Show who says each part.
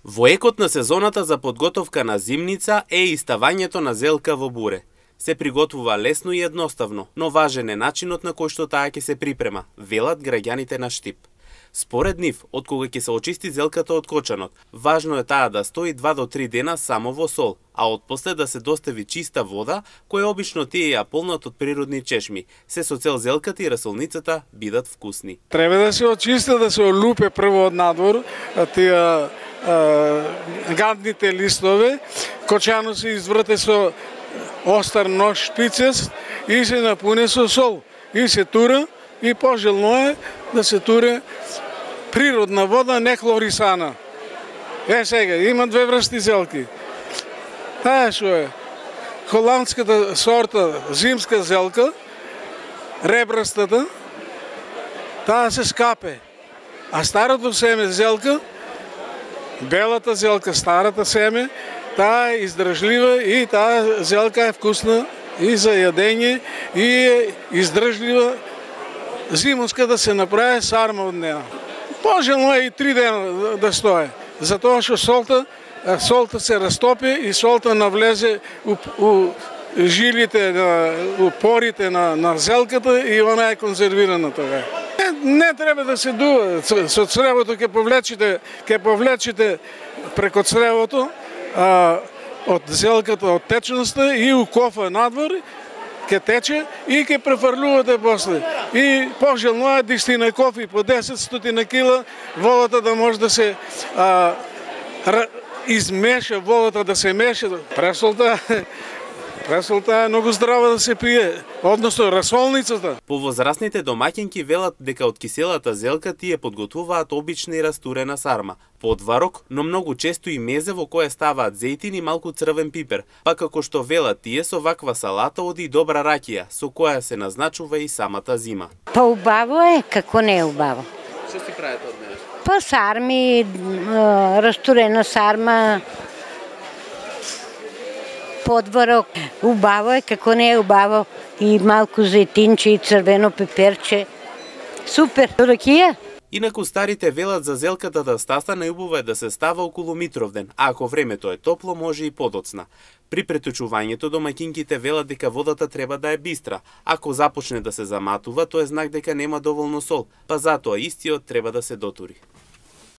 Speaker 1: Во екот на сезоната за подготовка на зимница е и ставањето на зелка во буре. Се приготвува лесно и едноставно, но важен е начинот на кој што таа ќе се припрема, велат граѓаните на Штип. Според нив, откога ќе се очисти зелката од кочанот, важно е таа да стои 2 до 3 дена само во сол, а отпосле да се достави чиста вода, која обично тие ја полнат од природни чешми, се со цел зелката и расолницата бидат вкусни.
Speaker 2: Треба да се очисти, да се олупе прво од надвор, тие гадните листове, кочано се изврте со остар нож шпицест и се напуне со сол и се тура, и пожелно е да се туре природна вода, не хлорисана. Сега, има две врсти зелки. Таа што е холандската сорта зимска зелка, ребрастата, таа се скапе. А старото семе зелка, белата зелка, старата семе, таа е издржлива и таа зелка е вкусна и за јадење и е издржлива зимонска да се направи сарма од неа. Пожелно е и 3 дена да стое, затоа што солта се растопи и солта навлезе у жилите, у порите на зелката и она е конзервирана тоа. Не треба да се дува, со цревото ќе повлечите преко цревото од зелката, од течноста и у кофа надвор ќе тече и ќе префрлувате после. И пожелно е 10 кофи по 10 кила, водата да може да се измеша, водата да се меша. Пресолта е многу здрава да се пие, односно расолницата.
Speaker 1: Повозрастните домаќинки велат дека од киселата зелка тие подготвуваат обична и растурена сарма, подварок, но многу често и мезе во кое ставаат зејтин и малку црвен пипер, па како што велат тие со ваква салата оди и добра ракија, со која се назначува и самата зима.
Speaker 3: Па убаво е, како не е убаво.
Speaker 1: Што си правите од неа?
Speaker 3: Па сарми, растурена сарма, подворок, убаво е, како не е убаво, и малку зејтинче и црвено пеперче. Супер, ракија.
Speaker 1: Инаку старите велат за зелката да стаса најубаво е да се става околу Митровден, а ако времето е топло може и подоцна. При преточувањето домаќинките велат дека водата треба да е бистра. Ако започне да се заматува, тоа е знак дека нема доволно сол, па затоа истиот треба да се дотури.